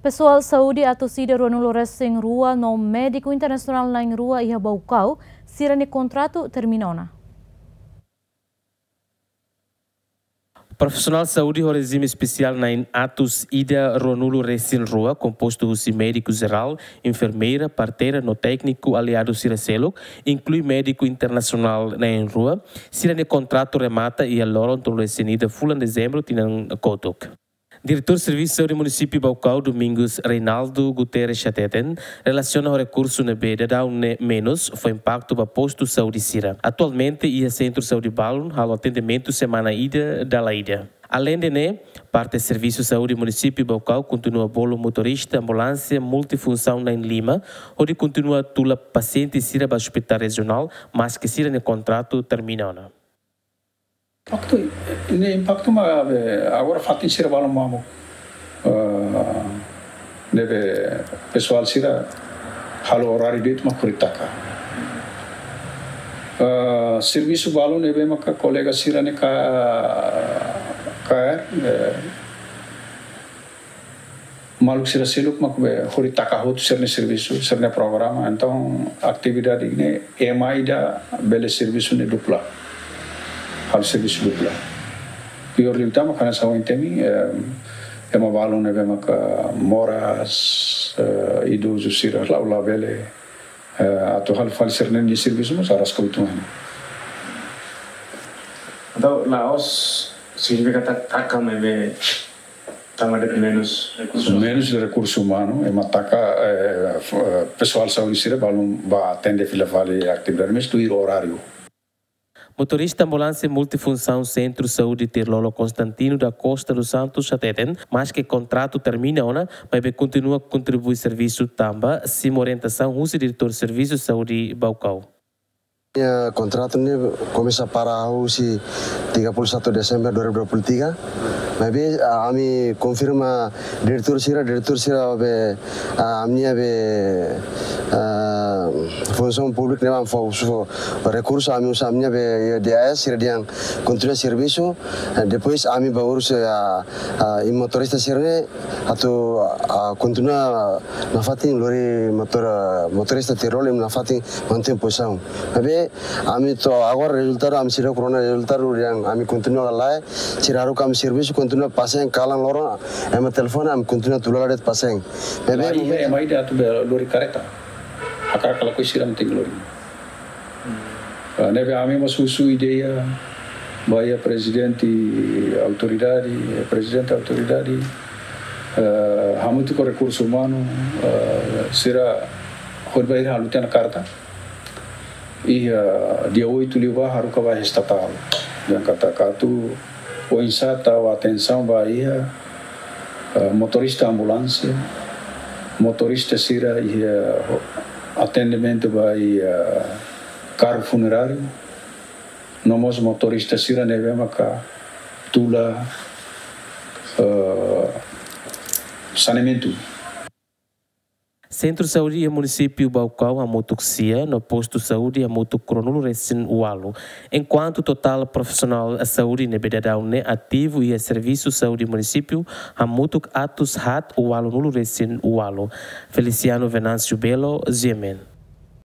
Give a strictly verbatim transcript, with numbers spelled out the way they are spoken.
Pesoál saúde atus ida ruanulu resin rua no médiku internasionál na'in rua iha Baucau, sira-nia kontratu termina ona. Profisionál saúde ho rejime espesiál na'in atus ida ruanulu resin rua, kompostu husi médiku jerál, enfermeira, parteira no tékniku aliadu sira seluk, inklui médiku internasionál na'in rua, sira-nia kontratu remata iha loron tolu resin ida fulan Dezembru tinan kotuk. Diretór Servisu Saúde Munisípiu Baucau, Domingos Reinaldo Guterres hateten, relasiona ho rekursu ne'ebé daudaun ne'e menus, fó impaktu ba postu saúde sira. Atualmente, iha sentru saúde balun halo atendimentu semana ida dala ida. Aleinde ne'e, parte Servisu Saúde Munisípiu Baucau kontinua bolu motorista ambulánsia multifunsaun na'in lima, hodi kontinua tula pasiente sira ba ospitál rejionál, maske sira-nia kontratu termina ona. Impaktu, ne'e impaktu mak, eh, agora fatin sira balun mamuk. Ah, ne'ebé pesoál sira halo oráriu de'it mak hori taka. Ah, servisu balun ne'ebé maka kolega sira-ne'e ka, ka, eh, maluk sira seluk mak be hori taka hotu sira-nia servisu, sira-nia programa. Entaun, atividade ne'e ema ida bele servisu ne'e dupla. Halo servisu dupla. Piór liután mak hanesan ohin temi, eh, ema balun ne'ebé maka moras, eh, idozu sira la'o labele, eh, atu halo fali sira-nia servisu mós araska uitoan. Entaun, la'ós signifika katak taka mak be tama de menus rekursu. Menus de rekursu umanu, ema taka, eh, f-, eh, pesoál saúde sira balun bá atende fila fali atividade, mas tuir oráriu. Motorista ambulánsia multifunsaun Sentru Saúde Tirlolo, Constantino da Costa dos Santos, hateten, maske kontratu termina ona, maibé kontinua kontribui servisu tanba simu orientasaun husi Diretór Servisu Saúde Baucau. Nia kontratu ne'e komesa para husi tiga puluh satu Desember dua ribu dua puluh tiga. Maibé, ah, ami konfirma diretór sira, diretór sira be, ah, ami-nia be, ah, funsaun públika ne'e ami fó, fó rekursu, ami uza ami-nia be, D A S sira dehan kontinua servisu. Eh, depois ami bá urus, ah, ah, i motorista sira-ne'e atu, ah, kontinua nafatin lori motor, ah, motorista Tirlolo nafatin mantein pozisaun. Maibé ami to'o agora rezultadu, ami seidauk rona rezultadu, dehan ami kontinua ka lae, sira haruka ami servisu, kontinua pasen kalan loron, ema telefone, ami kontinua tula lai de'it pasen. Maibé, lae, momentu ema ida atu be lori kareta. Hakarak ka lakohi sira mantein lori. Ah, ne'ebé ami mós husu ideia ba iha prezidente autoridade, prezidente autoridade, eh, hamutuk ho rekursu umanu, eh, sira hodi bá halo tiha ona karta. Iha dia oito liubá haruka ba estatál. Dehan katak atu oinsá tau atensaun ba iha, eh, motorista ambulánsia, motorista sira iha atendimentu ba iha karru funeráriu, no mós motorista sira ne'ebé maka tula, eh, saneamentu. Sentru saúde iha munisípiu Baucau hamutuk sia, no postu saúde hamutuk ruanulu resin ualu. Enkuantu totál profisionál saúde ne'ebé daudaun ne'e ativu iha servisu saúde munisípiu hamutuk atus haat ualunulu resin ualu. Feliciano Venâncio Belo, G M N.